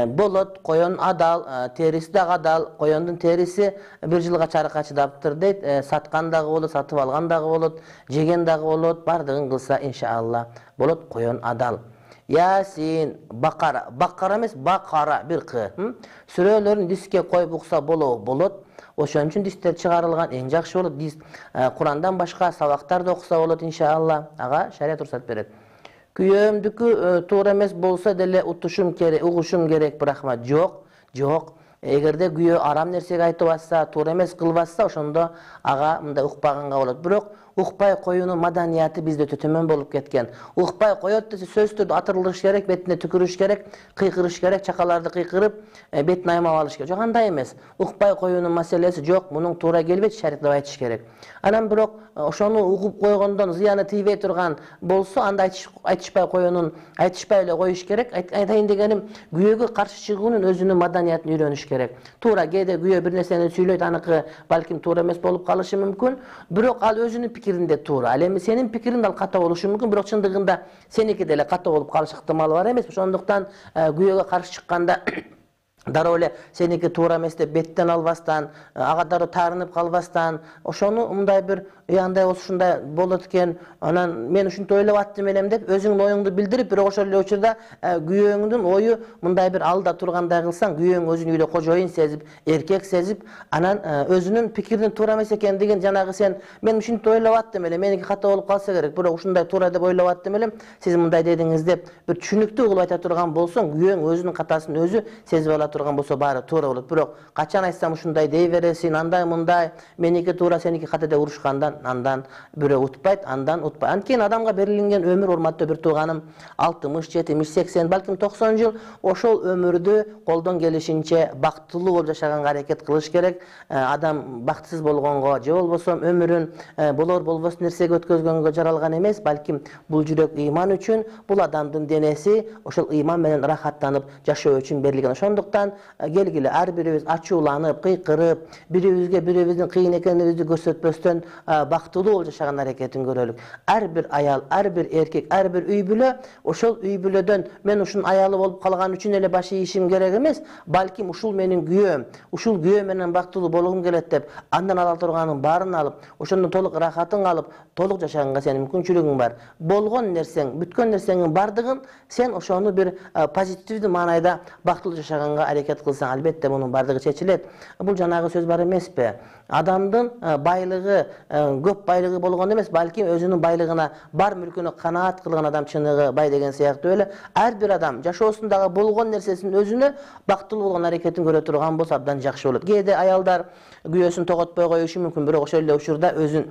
Болот, коён адал, териси да адал, коёндун териси 1 жылга чарыкка чыдаптыр дейт. Саткан дагы болот, сатып алган дагы болот, жеген дагы болот, бардыгын кылса иншалла болот, коён адал. Ясин, бакара эмес, бакара бир кы. Сүрөлөрүн диске коюп укса болобу? Болот. Ошон үчүн дистер чыгарылган, эң жакшы болот. Дис Курандан башка сабактарды окуса болот иншалла. Ага шарият уруксат берет. Күйөөмдүкү туура эмес болсо деле утушум керек, угушум керек, бирок жок. Эгерде күйөө арам нерсеге айтып атса, туура эмес кылбатса, ошондо ага мындай укпаганга болот. Бирок укпай коюунун маданияты бизде өтө төмөн болуп кеткен. Укпай коет десе сөзсүз түрдө атырылыш керек, бетине түкүрүш керек, кыйкырыш керек, чакаларды кыйкырып, бетин аймап алыш керек. Жок, андай эмес. Укпай коюунун маселеси жок, мунун туура келбейт, шариятта айтыш керек. Анан бирок ошону угуп койгондон зыяны тийбей турган болсо, анда айтышпай коюунун, айтышпай эле коюш керек. Айтайын дегеним, күйөөгө каршы чыгуунун өзүнүн маданиятын үйрөнүш керек. Туура кээде күйөө бир нерсени сүйлөйт, аныкы балким туура эмес болуп калышы мүмкүн, бирок ал өзүнүн пикиринде туура. Ал эми сенин пикириң ал ката болушу мүмкүн, бирок чындыгында сеники деле ката болуп калыш ыктымалы бар эмес. Ошондуктан күйөөгө каршы чыкканда дароо эле сеники туура эмес деп беттен албастан, ага дароо таарынып калбастан, ошону мындай бир андай болсо ушундай болот экен, анан мен ушинтип ойлоп аттым элем деп өзүңдүн оюңду билдирип, бирок ошол эле учурда күйөөңдүн ою мындай бир алда тургандай кылсаң, күйөөң өзүн үйдө кожоюн сезип, эркек сезип, анан өзүнүн пикиринин туура эмес экендигин, жанагы сен мен ушинтип ойлоп аттым эле, меники ката болуп калса керек, бирок ушундай туура деп ойлоп аттым элем, сиз мындай дедиңиз деп бир түшүнүктүү кылып айта турган болсоң, күйөөң өзүнүн катасын өзү сезип ала турган болсо баары туура болот. Бирок качан айтсам ушундай дей бересиң, андай мындай, меники туура, сеники ката деп урушкандан андан бирөө утпайт, андан утпайт. Анткени адамга берилген өмүр, урматтуу бир тууганым, 60, 70, 80, балким 90 жыл ошол өмүрдү колдон келишинче бактылуу болуп жашаганга аракет кылыш керек. Адам бактысыз болгонго же болбосо өмүрүн болор болбос нерсеге өткөзгөнгө жаралган эмес, балким бул жүрөк ыйман үчүн, бул адамдын денеси ошол ыйман менен рахаттанып жашоо үчүн берилген. Ошондуктан келгиле ар бирибиз ачууланып, кыйкырып, бирибизге бирибиздин кыйын экенибизди көрсөтпөстөн бактылуу болуп жашаган аракетин көрөлүк. Ар бир аял, ар бир эркек, ар бир үй бүлө ошол үй бүлөдөн мен ушунун аялы болуп калган үчүн эле баш ийишим керек эмес, балким ушул менин күйөөм, ушул күйөө менен бактылуу болгум келет деп, андан ала турганын баарын алып, ошондон толук рахатын алып, толук жашаганга сенин мүмкүнчүлүгүң бар. Болгон нерсең, бүткөн нерсеңин бардыгын сен ошону бир позитивдүү маанайда бактылуу жашаганга аракет кылсаң, албетте мунун бардыгы чечилет. Бул жанагы сөз бар эмеспи? Адамдын байлыгы, көп байлыгы болгон эмес, балким өзүнүн байлыгына, бар мүлкүнө канаат кылган адам чыныгы бай деген сыяктуу эле ар бир адам жашоосундагы болгон нерсесин өзүнө бактылуу болгон аракетин көрө турган болсо абдан жакшы болот. Кээде аялдар күйөөсүн тоготпой коюшу мүмкүн, бирок ошол эле учурда өзүн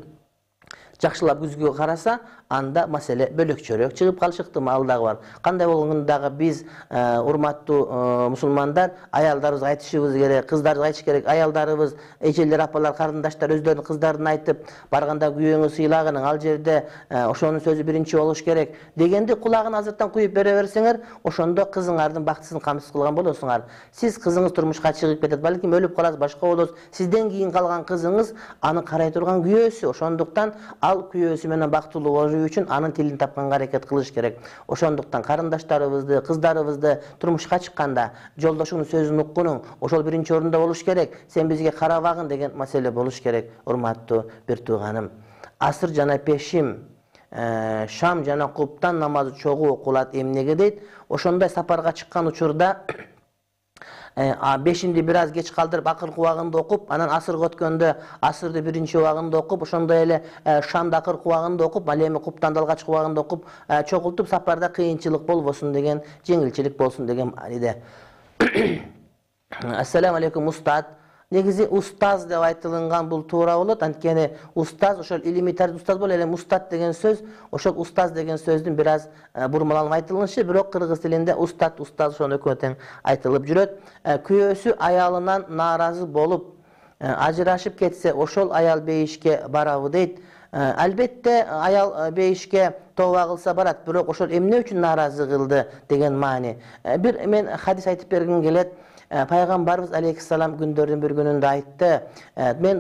жакшылап күзгүгө караса, анда маселе бөлөкчөрөөк чыгып калышы ыктымалы дагы бар. Кандай болгондо дагы биз урматтуу мусулмандар аялдарыбызга айтышыбыз керек, кыздарыбызга айтыш керек. Аялдарыбыз, эжелер, апалар, карындаштар өздөрүнүн кыздарын айтып, барганда күйөөңү сыйлагын, ал жерде ошонун сөзү биринчи болуш керек дегенди кулагын азырттан куюп бере берсеңер, ошондо кызыңардын бактысын камсыз кылган болосуңар. Сиз кызыңыз турмушка чыгып кетет, балким өлүп каласыз, башка болосуз. Сизден кийин калган кызыңыз аны карай турган күйөөсү. Ошондуктан ал күйөөсү менен бактылуу болуу үчүн анын тилин тапканга аракет кылыш керек. Ошондуктан карындаштарыбызды, кыздарыбызды турмушка чыкканда жолдошуңдун сөзүн уккунуң, ошол биринчи орунда болуш керек. Сен бизге карабагын деген маселе болуш керек, урматтуу бир тууганым. Асыр жана пешим, шам жана куптан намазы чогуу окулат эмнеге дейт? Ошондой сапарга чыккан учурда бешинди бир аз кеч калтырып акыркы убагында окуп, анан асырга өткөндө асырды биринчи убагында окуп, ошондой эле шамды акыркы убагында окуп, ал эми куптанды алгачкы убагында окуп, чогултуп сапарда кыйынчылык болбосун деген, жеңилчилик болсун деген мааниде. Ассаламу алейкум устат. Негизи устаз деп айтылган бул туура болот. Анткени устаз ошол илимий тарбия устаз боло эле устат деген сөз, ошол устаз деген сөздүн бир аз бурмаланып айтылышы, бирок кыргыз тилинде устат, устаз ошондой экөө тең айтылып жүрөт. Күйөөсү аялынан нааразы болуп ажырашып кетсе, ошол аял бейишке барабы дейт. Албетте аял бейишке тооба кылса барат, бирок ошол эмне үчүн нааразы кылды деген маани. Бир мен хадис айтып бергим келет. Пайгамбарыбыз алейхиссалам күндөрдүн бир күнүндө айтты,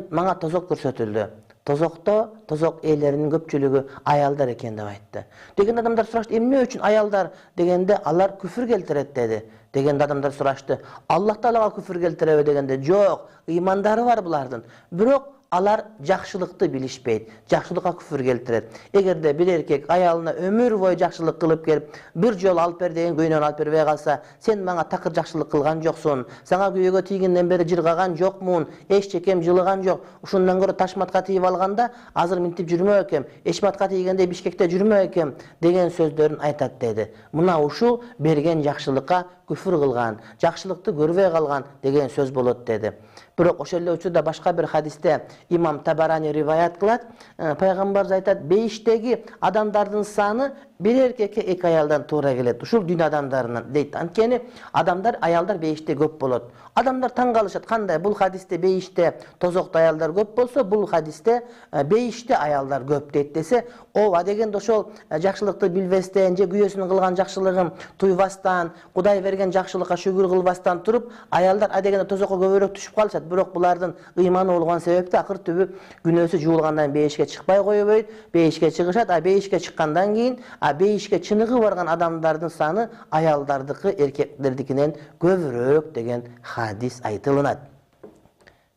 мага тозок көрсөтүлдү. Тозокто тозок ээлеринин көпчүлүгү аялдар экен деп айтты. Деген адамдар сурашты, эмне үчүн аялдар дегенде алар күфүр келтирет деди. Дегенде адамдар сурашты, Аллах Таалага күфүр келтиреби дегенде, жок, ыймандары бар булардын. Бирок алар жакшылыкты билишпейт, жакшылыкка күфүр келтирет. Эгерде бир эркек аялына өмүр бою жакшылык кылып келип, бир жолу алып бер деген көйнөнү алып бербей калса, сен мага такыр жакшылык кылган жоксуң, сага күйөөгө тийгенден бери жыргаган жокмун, эч чекем жылыган жок, ушундан көрө ташматка тийип алганда азыр минтип жүрмөк экем, эчматка тийгенде Бишкекте жүрмөк экем деген сөздөрүн айтат деди. Мына ушул берген жакшылыкка күфүр кылган, жакшылыкты көрбөй калган деген сөз болот деди. Бирок ошол эле учурда башка бир хадисте имам Табарани риваят кылат, пайгамбарыбыз айтат, бейиштеги адамдардын саны бир эркекке эки аялдан туура келет. Ушул дүйнө адамдарынан дейт. Анткени аялдар бейиште көп болот. Адамдар таң калышат, кандай бул хадисте бейиште тозокто аялдар көп болсо, бул хадисте бейиште аялдар көп дейт десе, ооба дегенде ошол жакшылыкты билбестен же күйөөсүнүн кылган жакшылыгын туйбастан, Кудай берген жакшылыкка шүгүр кылбастан туруп, аялдар дегенде тозокко көбүрөөк түшүп калышат. Бирок булардын ыйманы болгон себепти акыр түбү күнөөсү жуулгандан бейишке чыкпай койбойт, бейишке чыгышат, бейишке чыккандан кийин бейишке чыныгы барган адамдардын саны аялдардыкы эркектердикинен көбүрөөк деген хадис айтылынат.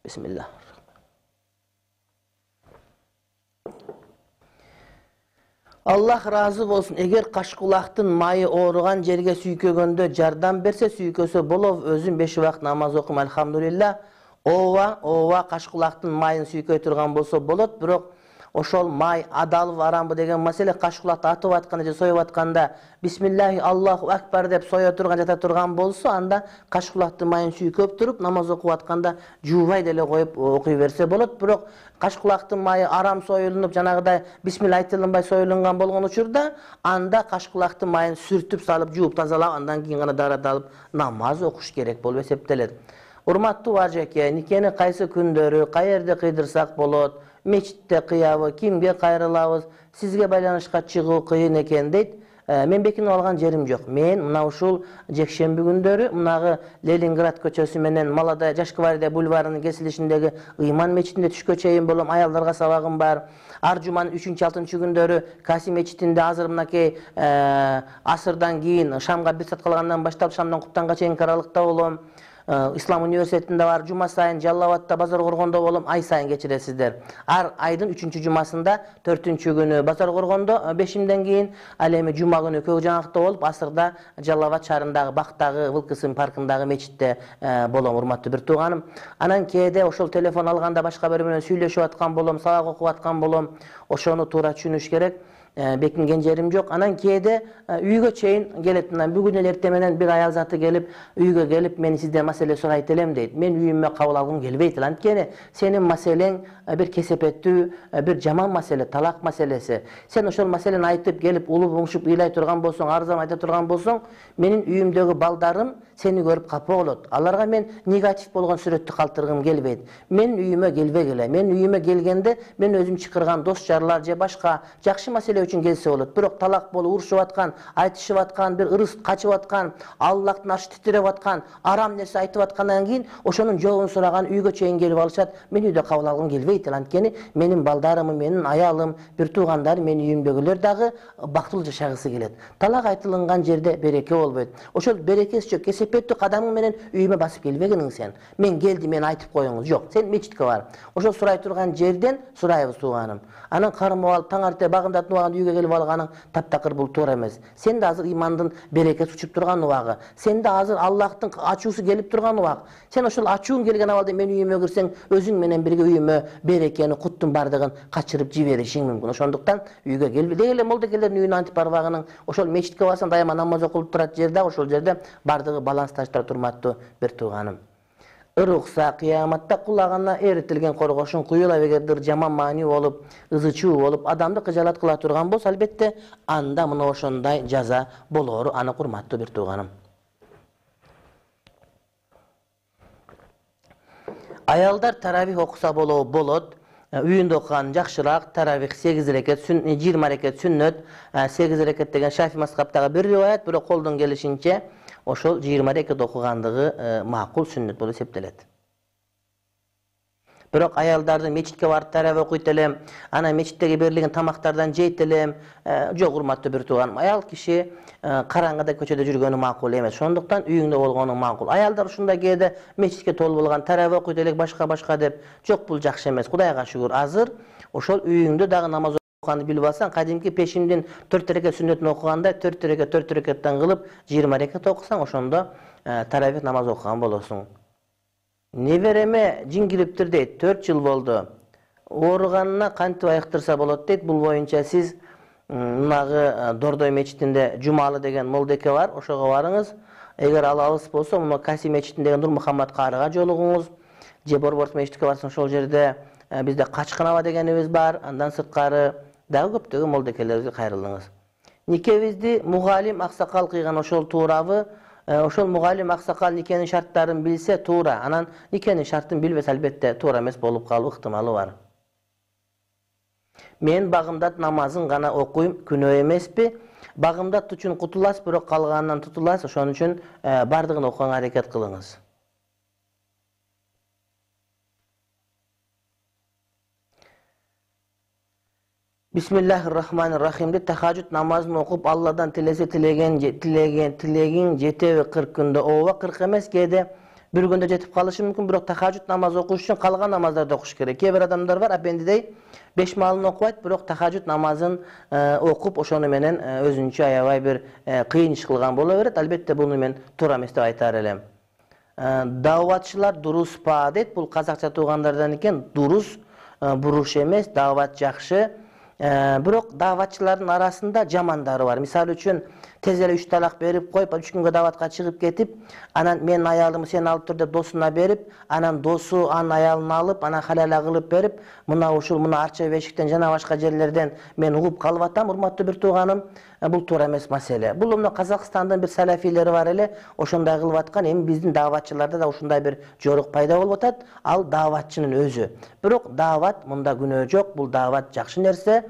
Бисмилlah. Аллах разы болсун. Эгер кашкулактын майы ооруган жерге сүйкөгөндө жардам берсе, сүйкөсө болобу? Өзүм 5 убакыт намаз окум, алхамдулилlah. Ооба, кашкулактын майын сүйкөй турган болсо болот, бирок ошол май адалбы арамбы деген маселе кашкулакты атып атканда же союп атканда бисмиллахи Аллаху акбар деп сое турган жата турган болсо, анда кашкулактын майын сүйкөп туруп намаз окуп атканда жуубай деле коюп окуй берсе болот. Бирок кашкулактын майы арам союлунуп, жанагыдай бисмилла айтылынбай союлунган болгон учурда анда кашкулактын майын сүртүп салып, жууп тазалап, андан кийин гана даарат алып намаз окуш керек болуп эсептелет. Урматтуу ажеке, никени кайсы күндөрү, каерде кыйдырсак болот, мечитте кыябы, кимге кайрылабыз, сизге байланышка чыгуу кыйын экен дейт. Мен бекинип алган жерим жок. Мен мына ушул жекшемби күндөрү мунагы Ленинград көчөсү менен Молодая Жашквардия бульварынын кесилишиндеги Ыйман мечитинде түшкө чейин болом, аялдарга сабагым бар. Ар жуманын 3-6 күндөрү Касим мечитинде азыр мынакей асырдан кийин шамга 1 саат калгандан баштап шамдан куптанга чейинки аралыкта болом. Ислам университетинде бар, жума сайын Жалал Абадта, Базар Коргондо болом, ай сайын кечиресиздер. Ар айдын 3-жумасында 4-күнү Базар Коргондо 5-ден кийин, ал эми жума күнү Көк Жаңакта болуп, асырда Жалал Абад шаарындагы Бактагы Вылкысын паркындагы мечитте болом, урматтуу бир тууганым. Анан кээде ошол телефон алганда башка бирөө менен сүйлөшүп аткан болом, сабак окуп аткан болом. Ошону туура түшүнүш керек. Бекинген жерим жок. Анан кээде үйгө чейин келет. Бүгүн эле эртең менен бир аял заты келип, үйгө келип, мен сизден маселе сурайт элем дейт. Мен үйүмө кабыл алгым келбейт. Анткени сенин маселең бир кесепеттүү, бир жаман маселе, талак маселеси. Сен ошол маселени айтып келип, улуп уңшуп ыйлай турган болсоң, арзан айта турган болсоң, менин үйүмдөгү балдарым сени көрүп капа болот. Аларга мен негатив болгон сүрөттү калтыргым келбейт. Мен үйүмө келбегиле. Мен үйүмө келгенде мен өзүм чакырган дос жарлар же башка жакшы маселе үчүн келсе болот. Бирок талак болуп урушуп аткан, айтышып аткан, бир ырыс качып аткан, Аллахтын аршы титиреп аткан, арам нерсе айтып аткандан кийин ошонун жообун сураган үйгө чейин келип алышат. Мен үйдө кабыл алгым келбейт. Анткени менин балдарым, менин аялым, бир туугандар, менин үйүмдөгүлөр дагы бактылуу жашагысы келет. Талак айтылган жерде береке болбойт. Ошол берекеси жок, кесепеттүү кадамың менен үйүмө басып келбегиниң сен. Мен келдим, мен айтып коюңуз. Жок, сен мечитке бар. Ошол сурай турган жерден сурайбыз тууганым. Анан кармап алып таң арте багымдатып убагында үйгө келип алганың таптакыр, бул туура эмес. Сен да азыр имандын берекеси учуп турган убагы. Сен да азыр Аллахтын ачуусу келип турган убак. Сен ошол ачууң келген абалда мен үйүмө кирсең, өзүң менен бирге үйүмө берекени, куттун бардыгын качырып жиберишиң мүмкүн. Ошондуктан үйгө келбей деле молдокелердин үйүнө антип барбагының. Ошол мечитке барсаң дайыма намаз окулуп турат жерде, ошол жерде бардыгы балансташтар турматтуу бир тууганым. Ырукса кыяматта кулагына эритилген коргошун куюлап, эгердир жаман маани болуп, ызычуу болуп, адамды кыжалат кыла турган болсо, албетте анда мына ошондой жаза болору анык, урматтуу бир тууганым. Аялдар таравих окуса болот. Үйүндө окуган жакшыраак. Таравих 8 рекет, 20 рекет сүннөт, 8 рекет деген Шафи мазхабтагы бир риваят, бирок колдон келишинче ошол 20 рекет окугандыгы макул, сүннөт болуп эсептелет. Бирок аялдарды мечитке барып таравих окуйт элем, анан мечиттеги берилген тамактардан жейт элем, жок, урматтуу бир тууганым. Аял киши караңгыда көчөдө жүргөнү макул эмес. Ошондуктан үйүңдө болгону макул. Аялдар ушундай кээде мечитке толуп болгон таравих окуйт элек башка деп, жок, бул жакшы эмес. Кудайга шүгүр, азыр ошол үйүңдө дагы намаз окуганды билип алсаң, кадимки пешимдин 4 рекет сүннөтүн окуганда 4 рекеттен кылып 20 рекет окусаң, ошондо таравих намаз окуган болосуң. Небереме жин кириптир дейт, 4 жыл болду. Ооруганына кантип айыктырса болот дейт. Бул боюнча сиз мынагы Дордой мечитинде Жумалы деген молдеке бар, ошого барыңыз. Эгер ал алыс болсо, мына Касим мечитиндеги Нур Мухаммад карыга жолугуңуз. Же Борборс мечитке барсаң, ошол жерде бизде Качкынаба дегенибиз бар. Андан сырткары дагы көптөгөн молдекелерибизге кайрылыңыз. Никебизди мугалим аксакал кыйган ошол туурабы? Ошол мугалим аксакал никенин шарттарын билсе туура. Анан никенин шартын билбесе, албетте туура эмес болуп калуу ыктымалы бар. Мен багымдат намазын гана окуйм, күнөө эмеспи? Багымдат үчүн кутуласыз, бирок калганынан тутуласыз. Ошон үчүн бардыгын окуганга аракет кылыңыз. Бисмиллахир-рахманир-рахим деп тахажжуд намазын окуп, Алладан тилесе tilегин жетеби 40 күндө? Ооба, 40 эмес, кээде бир күндө жетип калышы мүмкүн, бирок тахажжуд намаз окуш үчүн калган намаздарды окуш керек. Кээ бир адамдар бар, апендидей 5 маалын окубайт, бирок тахажжуд намазын окуп, ошону менен өзүнчө аябай бир кыйын иш кылган боло берет. Албетте буну мен туура эмес деп айтар элем. Дааватчылар дурус па дейт. Бул казакча туугандардан экен. Дурус буруш эмес, даават жакшы. Бирок дааватчылардын арасында жамандары бар. Мисалы үчүн тез эле 3 талак берип коюп, 3 күнгө дааватка чыгып кетип, анан менин аялымы сен алып тур деп досуна берип, анан досу анын аялын алып, анан халала кылып берип, мына ушул арча бешиктен жана башка жерлерден мен угуп калып атам, урматтуу бир тууганым. Бул туура эмес маселе. Бул мына Казакстандын бир салафилери бар эле, ошондой кылып аткан. Эми биздин дааватчыларда да ушундай бир жорук пайда болуп атат. Ал дааватчынын өзү. Бирок даават мында күнөө жок. Бул даават жакшы нерсе.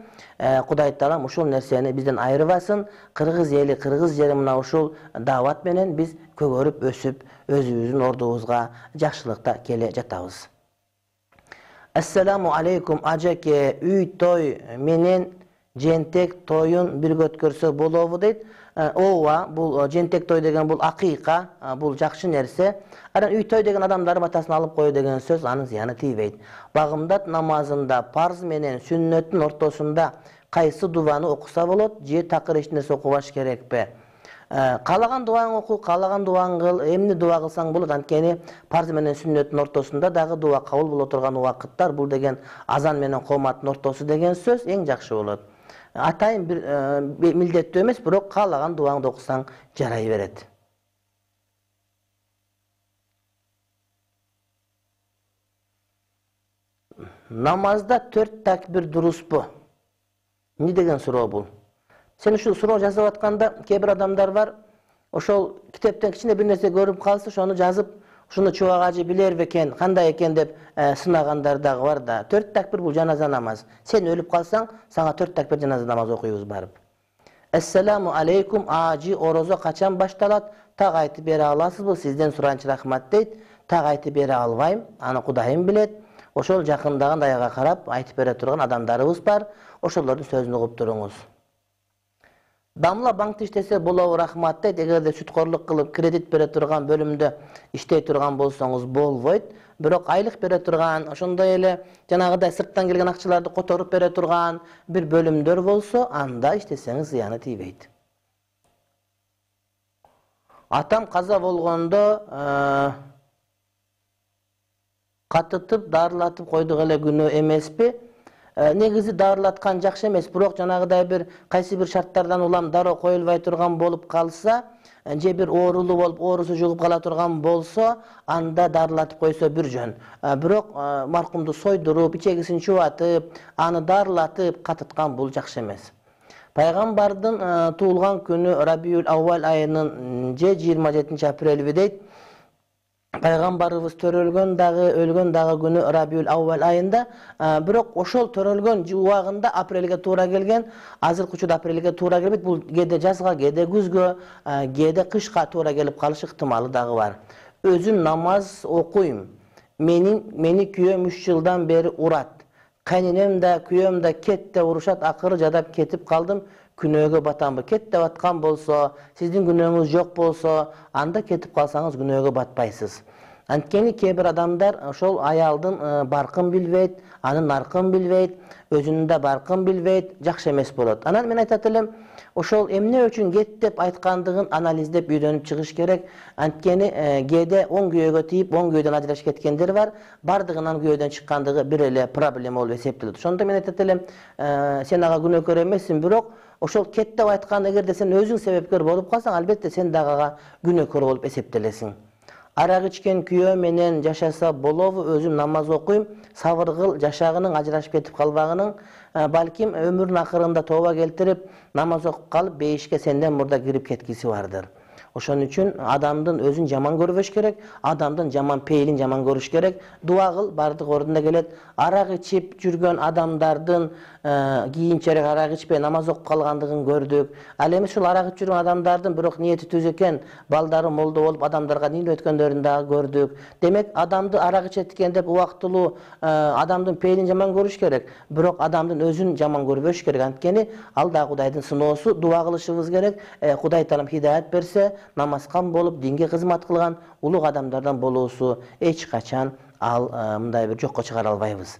Кудай Таалам ушул нерсени бизден айырбасын. Кыргыз эли, кыргыз жери мына ушул даават менен биз көгөрүп, өсүп, өзүбүздүн ордубузга жакшылыкта келе жатабыз. Ассаламу алейкум ажаке, үй той менен жентек тоюн бирге өткөрсө болобу дейт. Ооба, бул жентек той деген бул акыйка, бул жакшы нерсе. Анан үй той деген адамдардын батасын алып коюу деген сөз анын зыяны тийбейт. Багымдат намазында парз менен сүннөттүн ортосунда кайсы дубаны окуса болот, же такыр эч нерсе окубаш керекпи? Каалаган дубаңды оку, каалаган дубаңды кыл, эмне дуба кылсаң болот. Анткени парз менен сүннөттүн ортосунда дагы дуба кабыл боло турган убакыттар, бул деген азан менен кооматтын ортосу деген сөз эң жакшы болот. Атайын бир милдеттүү эмес, бирок каалаган дубаңды окусаң жарай берет. Намазда 4 такбир дуруспу? Эмне деген суроо бул? Сен ушул суроо жазып атканда кээ бир адамдар бар, ошол китептен кичине бир нерсе көрүп калса, ошону жазып, ушуну чубак ажы билер бекен, кандай экен деп сынагандар дагы бар да. 4 такбир бул жаназа намаз. Сен өлүп калсаң, сага 4 такбир жаназа намаз окуйбуз барып. Ассаламу алейкум ажы, орозо качан башталат? Так айтып бере аласызбы? Сизден суранчы рахмат дейт. Так айтып бере албайм, аны Кудайым билет. Ошол жакындаган даяга карап айтып бере турган адамдарыбыз бар. Ошолордун сөзүн угуп туруңуз. Дамла банкта иштесе болобу, рахмат дейт. Эгерде сүткорлук кылып кредит бере турган бөлүмдө иштей турган болсоңуз болбойт. Бирок айлык бере турган, ошондой эле жанагыдай сырттан келген акчаларды которуп бере турган бир бөлүмдөр болсо, анда иштесеңиз зыяны тийбейт. Атам каза болгондо катытып, дарылатып койдук эле күнөө эмеспи? Негизи дарылаткан жакшы эмес, бирок жанагыдай бир кайсы бир шарттардан улам дароо коюлбай турган болуп калса, же бир оорулуу болуп, оорусу жугуп кала турган болсо, анда дарылатып койсо бир жөн. Бирок маркумду сойдуруп, ичегисин чубатып, аны дарылатып катыткан бул жакшы эмес. Пайгамбардын туулган күнү Рабиул Аввал айынын же 27 апрелби дейт. Пайгамбарыбыз төрөлгөн дагы, өлгөн дагы күнү Рабиул Аввал айында, бирок ошол төрөлгөн убагында апрелге туура келген, азыркы учурда апрелге туура келбейт. Бул кээде жазга, кээде күзгө, кээде кышка туура келип калыш ыктымалы дагы бар. Өзүм намаз окуйм. Мени күйөөм 3 жылдан бери урат. Кайненем да, күйөөм да кетте урушат, акыры жадап кетип калдым. Күнөөгө батамбы? Кет деп аткан болсо, сиздин күнөөңүз жок болсо, анда кетип калсаңыз күнөөгө батпайсыз. Анткени кээ бир адамдар ошол аялдын баркын билбейт, анын наркын билбейт, өзүнүн да баркын билбейт, жакшы эмес болот. Анан мен айтат элем, ошол эмне үчүн кет деп айткандыгын анализдеп үйрөнүп чыгыш керек. Анткени кээде оң күйөөгө тийип, оң күйөөдөн ажырашып кеткендер бар. Бардыгынан күйөөдөн чыккандыгы бир эле проблема болуп эсептелет. Ошондо мен айтат элем, сен ага күнөөкөр эмессиң, бирок ошол кет деп айткан эгерде сен өзүң себепкер болуп калсаң, албетте сен дагы ага күнөөкөр болуп эсептелесиң. Арак ичкен күйөө менен жашаса болобу? Өзүм намаз окуйм, сабыр кыл, жашагының ажырашып кетип калбагының, балким өмүрүнүн акырында тооба келтирип, намаз окуп калып, бейишке сенден мурда кирип кеткиси бардыр. Ошон үчүн адамдын өзүн жаман көрбөш керек, адамдын жаман пейилин жаман көрүш керек. Дуа кыл, бардык ордуна келет. Арак ичип жүргөн адамдардын кийинчерээк арак ичпей намаз окуп калгандыгын көрдүк. Ал эми ушул арак ичип жүргөн адамдардын бирок ниети түз экен, балдары молдо болуп адамдарга дин өткөндөрүн дагы көрдүк. Демек, адамды арак ичет экен деп убактылуу адамдын пейилин жаман көрүш керек, бирок адамдын өзүн жаман көрбөш керек. Анткени ал да Кудайдын сыноосу. Дуа кылышыбыз керек. Кудай Таалам хидаят берсе, намазкан болуп, динге кызмат кылган улуг адамдардан болуусу эч качан ал мындай бир жокко чыгара албайбыз.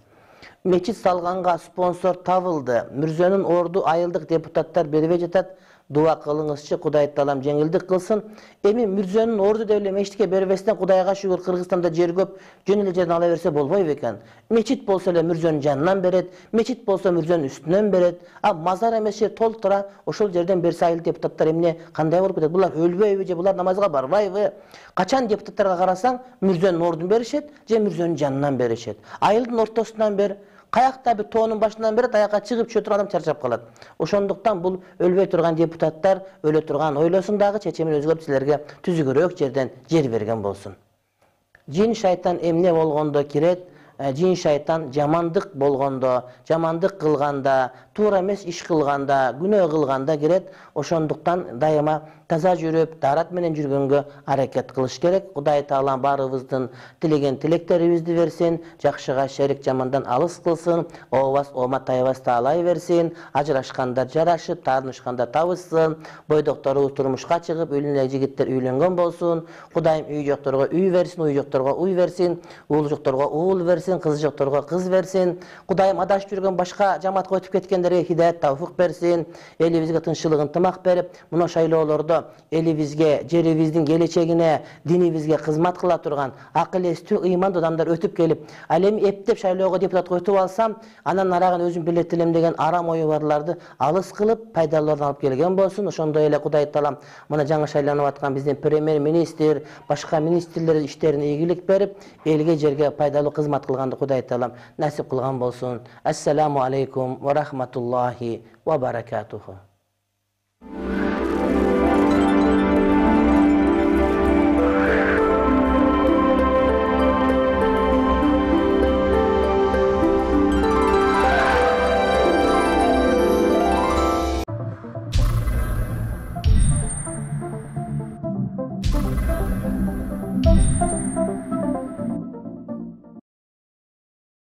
Мечит салганга спонсор табылды. Мүрзөнүн орду айылдык депутаттар бербей жатат. дуа кылыңызчы, Кудай Таалам жеңилдик кылсын. Эми мүрзөнүн орду деп эле мечитке бербестен Кудайга шүгүр Кыргызстанда жер көп, жөн эле жерден ала берсе болбойбу экен. Мечит болсо эле мүрзөнүн жанынан берет, мечит болсо мүрзөнүн үстүнөн берет. А мазар эмес жер толтура, ошол жерден берсе айыл депутаттар эмне кандай болуп кетет? Булар өлбөйбү же булар намазга барбайбы? Качан депутаттарга карасаң, мүрзөнүн ордун беришет же мүрзөнүн жанынан беришет. Айылдын ортосунан бер, каякта бир тоонун башынан берет, аякка чыгып түшө турган адам чарчап калат. Ошондуктан бул өлбөй турган депутаттар өлө турган ойлосун дагы чечимин өзгөртүп силерге түзүгүрөөк жерден жер берген болсун. Жин шайтан эмне болгондо кирет? Жин шайтан жамандык болгондо, жамандык кылганда, туура эмес иш кылганда, күнөө кылганда кирет. Ошондуктан дайыма таза жүрүп, даарат менен жүргөнгө аракет кылыш керек. Кудай Таалам баарыбыздын тилеген тилектерибизди берсин, жакшыга шерик, жамандан алыс кылсын, ообас, оомат тайбас таалай берсин, ажырашкандар жарашып, таарынышкандар табышсын, бойдокторубуз турмушка чыгып, үйлөнө жигиттер үйлөнгөн болсун, Кудайым үй жокторго үй берсин, уй жокторго уй берсин, уул жокторго уул берсин, кыз жокторго кыз берсин. Кудайым адашып жүргөн башка жамаатка өтүп кеткендерге хидаят, тавфык берсин, элибизге тынччылык, ынтымак берип, мына шайлоолордо элибизге, жерибиздин келечегине, динибизге кызмат кыла турган акыл эстүү, ыймандуу адамдар өтүп келип, ал эми эптеп шайлоого депутатка өтүп алсам, анан арагын өзүм билетилем деген арам ою барларды алыс кылып, пайдалууларын алып келген болсун. Ошондой эле Кудай Таалам мына жаңы шайланып аткан биздин премьер-министр, башка министрлер иштерине ийгилик берип, элге жерге пайдалуу кызмат кылганды Кудай Таалам насип кылган болсун. Ассаламу алейкум ва рахматуллахи ва баракатуху.